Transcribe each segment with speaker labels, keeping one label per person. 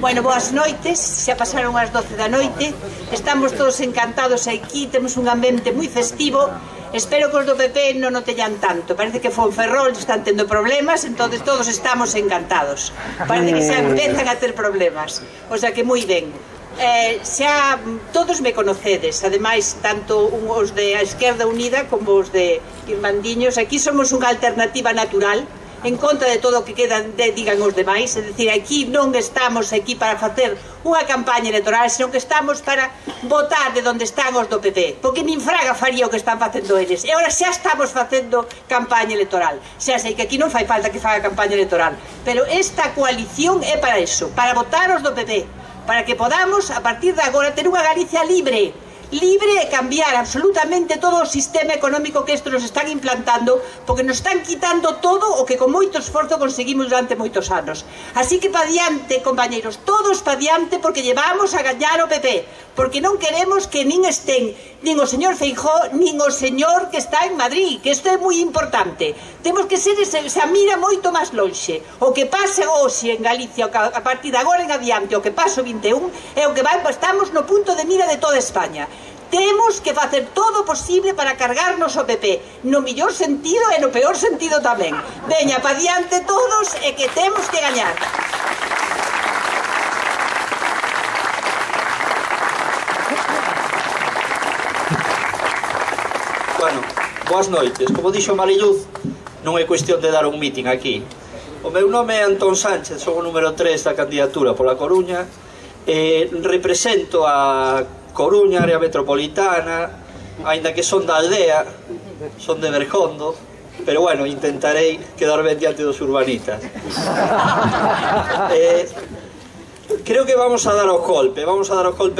Speaker 1: Bueno, boas noites, xa pasaron as 12 da noite, estamos todos encantados aquí, temos un ambiente moi festivo, espero que os do PP non o teñan tanto, parece que Fonferrol están tendo problemas, entonces todos estamos encantados, parece que xa empezan a ter problemas, o sea que moi ben. Xa todos me conocedes, ademais tanto os de a Esquerda Unida como os de Irmandiños, aquí somos unha alternativa natural en contra de todo o que digan os demais, é dicir, aquí non estamos aquí para facer unha campaña electoral, senón que estamos para votar de onde están os do PP, porque nin fraga faría o que están facendo eles, e agora xa estamos facendo campaña electoral, xa sei que aquí non fai falta que faga campaña electoral, pero esta coalición é para iso, para votar os do PP, para que podamos, a partir de agora, ter unha Galicia libre e cambiar absolutamente todo o sistema económico que estes nos están implantando, porque nos están quitando todo o que con moito esforzo conseguimos durante moitos anos. Así que pa diante, compañeros, todos pa diante, porque llevamos a gañar o PP, porque non queremos que nin estén nin o señor Feijóo, nin o señor que está en Madrid, que isto é moi importante. Temos que ser esa mira moito máis lonxe. O que pase hoxe en Galicia, a partir de agora en adiante, o que pase o 21, é o que estamos no punto de mira de toda España. Temos que facer todo o posible para cargarnos o PP, no mellor sentido e no peor sentido tamén. Veña, pa diante todos e que temos que gañar.
Speaker 2: Bueno, boas noites. Como dixo Mariluz, non é cuestión de dar un meeting aquí. O meu nome é Antón Sánchez, son o número 3 da candidatura pola Coruña, represento a Coruña, área metropolitana, aínda que son da aldea, son de Bergondo, pero bueno, intentarei quedar ben diante dos urbanitas. Creo que vamos a dar o golpe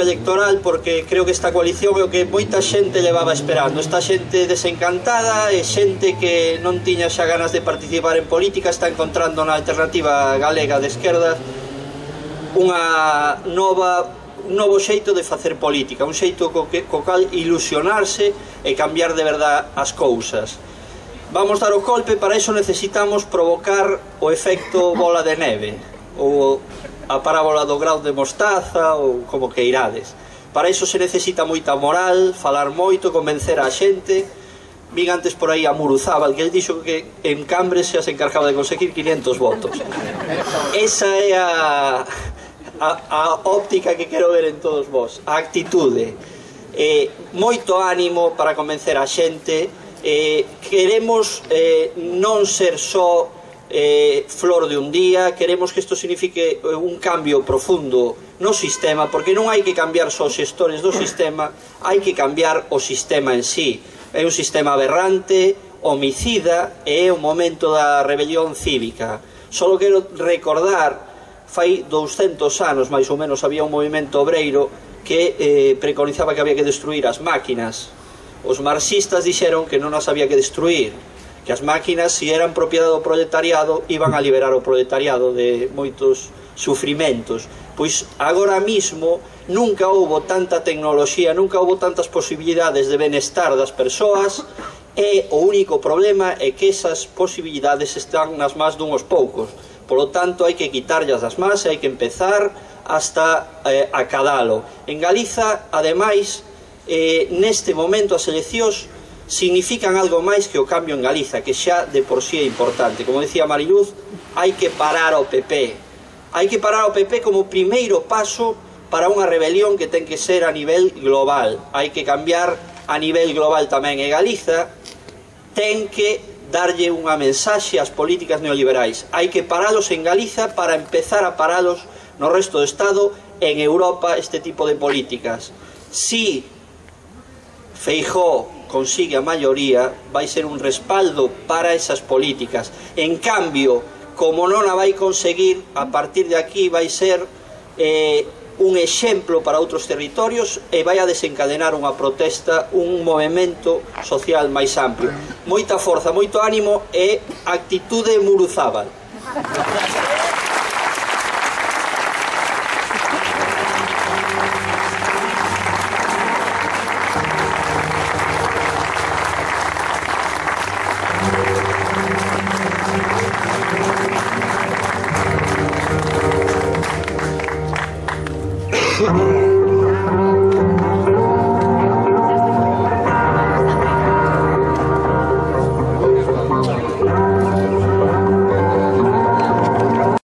Speaker 2: electoral, porque creo que esta coalición é o que moita xente levaba esperando. Esta xente desencantada e xente que non tiña xa ganas de participar en política está encontrando na alternativa galega de esquerda un novo xeito de facer política, un xeito co cal ilusionarse e cambiar de verdad as cousas. Vamos dar o golpe, para iso necesitamos provocar o efecto bola de neve, ou a parábola do grau de mostaza, ou como que irades. Para iso se necesita moita moral, falar moito, convencer a xente. Vin antes por aí a Muruzábal, que ele dixo que en Cambres xa se encargaba de conseguir 500 votos. Esa é a óptica que quero ver en todos vos, a actitude, moito ánimo para convencer a xente. Queremos non ser só flor de un día, queremos que isto signifique un cambio profundo no sistema, porque non hai que cambiar só os xestores do sistema, hai que cambiar o sistema en sí. É un sistema aberrante, homicida, e é o momento da rebelión cívica. Só quero recordar, fai 200 anos máis ou menos había un movimento obreiro que preconizaba que había que destruir as máquinas. Os marxistas dixeron que non as había que destruir, que as máquinas, se eran propiedade do proletariado, iban a liberar o proletariado de moitos sufrimentos. Pois agora mismo nunca houbo tanta tecnoloxía, nunca houbo tantas posibilidades de benestar das persoas, e o único problema é que esas posibilidades están nas más dunhos poucos. Polo tanto, hai que quitarllas das más e hai que empezar hasta acadalo. En Galiza, ademais, neste momento as eleccións significan algo máis que o cambio en Galiza, que xa de por sí é importante. Como decía Mariluz, hai que parar o PP. Hai que parar o PP como primeiro paso para unha rebelión que ten que ser a nivel global. Hai que cambiar a nivel global tamén. E Galiza ten que darlle unha mensaxe ás políticas neoliberais. Hai que paralos en Galiza para empezar a paralos no resto do Estado, en Europa, este tipo de políticas. Si Feijóo consigue a maioría, vai ser un respaldo para esas políticas. En cambio, como non a vai conseguir, a partir de aquí vai ser un exemplo para outros territorios e vai a desencadenar unha protesta, un movimento social máis amplio. Moita forza, moito ánimo e actitude Muruzábal.
Speaker 3: que